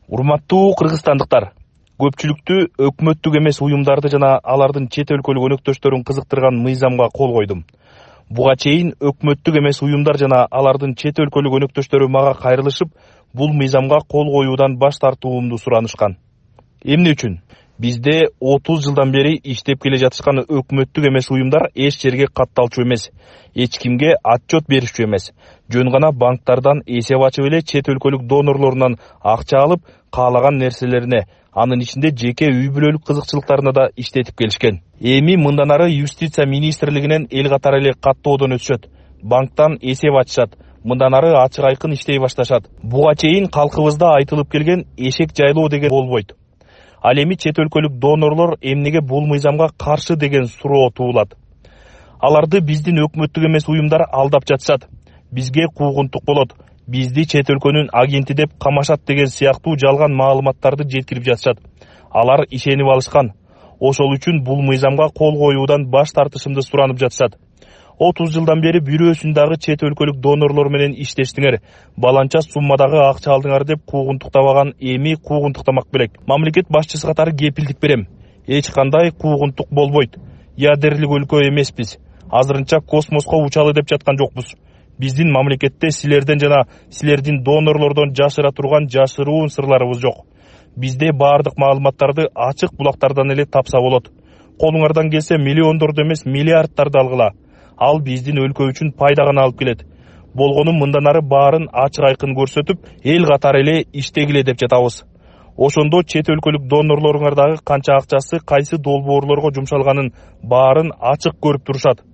Урматтуу кыргызстандыктар, көпчүлүктү өкмөттүк эмес уюмдарды жана алардын чет өлкөлүк өнөктөштөрүн кызыктырган мыйзамга кол койдум. Буга чейин өкмөттүк эмес уюмдар жана алардын чет өлкөлүк өнөктөштөрү мага кайрылышып, бул мыйзамга кол коюудан баш тартуумду суранышкан. Эмне үчүн? Бизде 30 жылдан бери иштеп келе жатышкан өкмөттүк эмес уюмдар эч жерге катталчу эмес, эч кимге отчет беришчү эмес. Жөн гана банктардан эсеп ачып эле чет өлкөлүк донорлорунан акча алып, каалаган нерселерине, анын ичинде жеке үй бүлөлүк кызыкчылыктарына да иштетип келишкен. Эми мындан ары юстиция министрлигинен эл катары эле каттоодон өтүшөт. Банктан эсеп ачышат. Мындан ары ачык айкын иштей башташат. Буга чейин калкыбызда айтылып келген эшек жайлоо деген болбойт. Ал эми чет өлкөлүк донорлор эмнеге бул мыйзамга каршы деген суроо туулат. Аларды биздин өкмөттүк эмес уюмдар алдап жатышат. Бизге куугунтук болот. Бизди чет өлкөнүн агенти деп камашат деген сыяктуу жалган маалыматтарды жеткирип жатышат. Алар ишенип алышкан. Ошол үчүн бул мыйзамга кол коюудан баш тартышымды суранып жатышат. 30 жылдан бери бирөөсүн дагы чет өлкөлүк донорлор менен иштештиңер, баланча суммадагы акча алдыңар деп куугунтуктабаган, эми куугунтуктамак белек. Мамлекет башчысы катары кепилдик берем. Эч кандай куугунтук болбойт. Ядерлик өлкө эмеспиз. Азырынча космоско учалы деп жаткан жокпуз. Биздин мамлекетте силерден жана силердин донорлордон жашыра турган жашыруун сырларыбыз жок. Бизде баардык маалыматтарды ачык булактардан эле тапса болот. Колуңардан келсе миллиондорду эмес миллиардтарды алгыла. Ал биздин өлкө үчүн пайда гана алып келет. Болгону мындан ары баарын ачык айкын көрсөтүп, эл катары эле иштегиле деп жатабыз. Ошондо чет өлкөлүк донорлоруңардагы канча акчасы кайсы долбоорлорго жумшалганын баарын ачык көрүп турушат.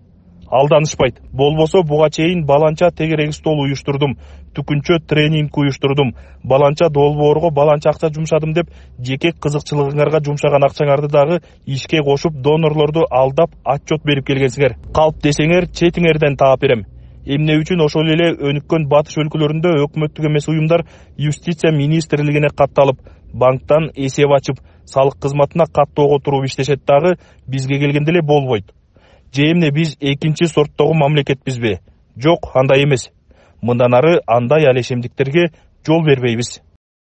Алданышпайт. Болбосо буга чейин баланча тегерек стол уюштурдум, түкүнчө тренинг уюштурдум, баланча долбоорго баланча акча жумшадым деп жеке кызыкчылыгыңарга жумшаган акчаңарды дагы ишке кошуп донорлорду алдап отчет берип келгенсиңер. Калп десеңер четиңерден таап берем. Эмне үчүн ошол эле өнүккөн батыш өлкөлөрүндө өкмөттүк эмес уюмдар юстиция министрлигине катталып, банктан эсеп ачып, салык кызматына каттоого туруп иштешет дагы бизге келгенде эле болбойт. Же эмне биз экинчи сорттогу мамлекетпизби? Жок, андай эмес. Мындан ары андай алешемдиктерге жол бербейбиз.